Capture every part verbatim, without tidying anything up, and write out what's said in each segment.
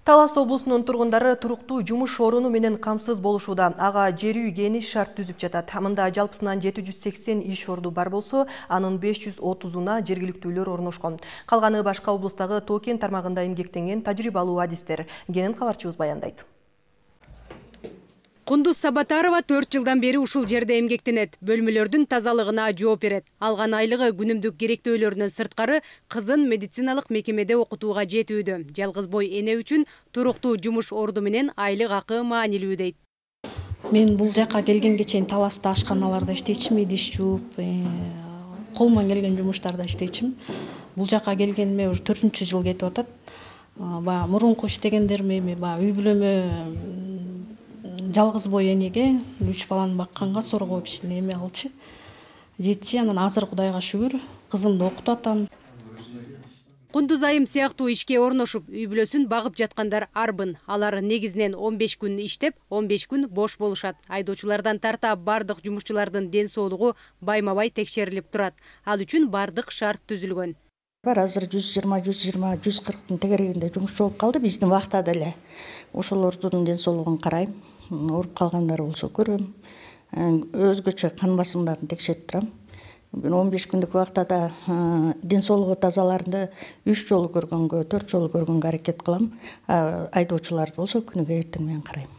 Талас облусунун тургундары туруктуу жумуш орunu менен камсыз болушууда. Ага жер үй кени шарт түзүп жатат. Мында жалпысынан жети жүз сексен иш орду бар болсо, анын беш жүз отузуна жергиликтүүлөр орношкон. Калганы башка облустагы Тоо-Кен тармагында эмгектенген тажрыйбалуу адистер. Кенен кабарчыбыз баяндайт. Кундуз Сабатарова төрт жылдан бери ушул жерде эмгектенет. Бөлмөлөрдүн тазалыгына жооп берет. Алган айлыгы күнүмдүк керектөөлөрүнөн сырткары кызын медициналык мекемеде окутууга жетүүдө. Жалгыз бой эне үчүн туруктуу жумуш орду менен айлык акы маанилүү дейт. Мен бул жака келгенге чейин Таласта ашканаларда иштейчүмүн, идиш жууп, кол менен келген жумуштарда иштейчүмүн. Бул жака келгениме уже төртүнчү жыл кетип атат. Баягы мурунку иштегендерим эми баягы үй бүлөмө жалгыз бой энеге үч баланы бакканга сорго кичине эме алчы. Жетчи, анан азыр Кудайга шүгүр, кызымды окутуп атам. Кундуз айым сыяктуу ишке орношуп, үй бүлөсүн багып жаткандар арбын. Алар негизинен он беш күн иштеп, он беш күн бош болушат. Айдоочулардан тарта бардык жумушчулардын ден соолугу байма-бай текшерилип турат. Ал үчүн бардык шарт түзүлгөн. Бар азыр жүз жыйырма, жүз жыйырма, жүз кырктын тегерегинде жумушчу болуп калды биздин убакта деле. Ошолордун ден соолугун карайм. Ооруп калгандар болсо көрөм. Өзгөчө кан басымдарын текшерип турам. он беш күндүк убактада ден соолугу тазаларды үч жолу көргөнгө, төрт жолу көргөнгө аракет кылам. Айдоочуларды болсо күнүгө эртең менен карайм.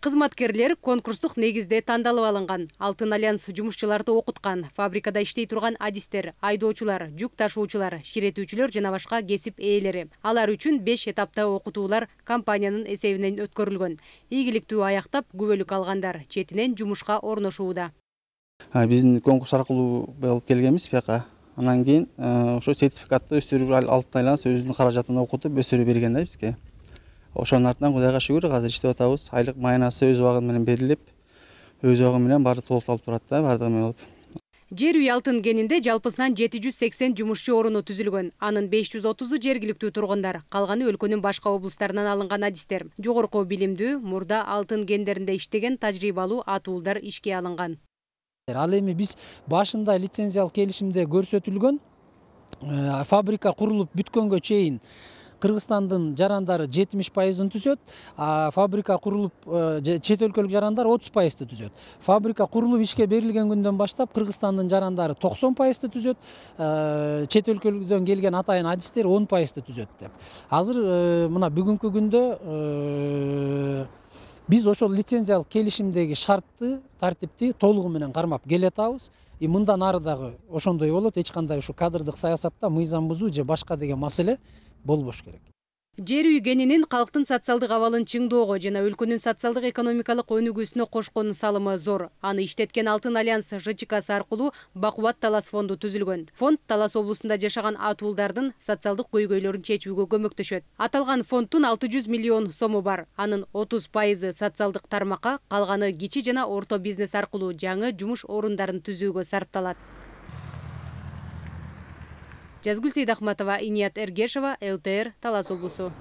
Кызматкерлер конкурстук негизде тандалып алынган. Алтын альянс жумушчуларды окуткан. Фабрикада иштей турган адистер, айдоочулар, жүк ташуучулар, ширетүүчүлөр жана башка кесип ээлери. Алар үчүн беш этапта окутуулар компаниянын эсебинен өткөрүлгөн. Ийгиликтүү аяктап, күбөлүк алгандар четинен жумушка орношууда. Биздин конкурс аркылуу болуп келгенбиз бияка. Анан кийин ошо сертификатты өздөрү Алтын альянс өзүнүн каражатына окутуп, өздөрү берген да бизге. Ошонун артынан Кудайга шүгүр, азыр иштеп атабыз. Айлык майнасы өз убагы менен берилип, өз убагы менен баары толукталып турат да, бардыгы менен болуп. Жер үй Алтын кенинде жалпысынан жети жүз сексен жумушчу орunu түзүлгөн. Анын беш жүз отузу жергиликтүү тургундар, калганы өлкөнүн башка облустарынан алынган адистер. Жогорку билимдүү, мурда алтын кендеринде иштеген тажрыйбалуу атуулдар ишке алынган. Ал эми биз башында лицензиялык келишимде көрсөтүлгөн фабрика курулуп бүткөнгө чейин Кыргызстандын жарандары жетимиш пайызын түзөт, а фабрика курулуп чет өлкөлүк жарандар отуз пайызды түзөт. Фабрика курулуп ишке берилген күндөн баштап Кыргызстандын жарандары токсон пайызды түзөт, чет өлкөлүктөн келген атайын адистер он пайызды түзөт деп. Азыр мына бүгүнкү күндө биз ошол лицензиялык келишимдеги шартты, тартипти толугу менен кармап келатабыз. И мындан ары дагы ошондой болот, эч кандай ушу кадрдык саясатта мыйзам бузуу же башка деген маселе болбош керек. Жер үй кенинин калктын социалдык абалын чыңдоого жана өлкөнүн социалдык экономикалык өнүгүүсүнө кошкон салымы зор. Аны иштеткен Алтын альянс ЖЧКсы аркылуу Бакубат Талас фонду түзүлгөн. Фонд Талас облусунда жашаган атуулдардын социалдык көйгөйлөрүн чечүүгө көмөктөшөт. Аталган фонддун алты жүз миллион сому бар. Анын отуз пайызы социалдык тармакка, калганы кичи жана орто бизнес аркылуу жаңы жумуш орундарын түзүүгө сарпталат. Жазгүл Сейдахматова, Иният Эргешова, эл тэ эр, Талас облусу.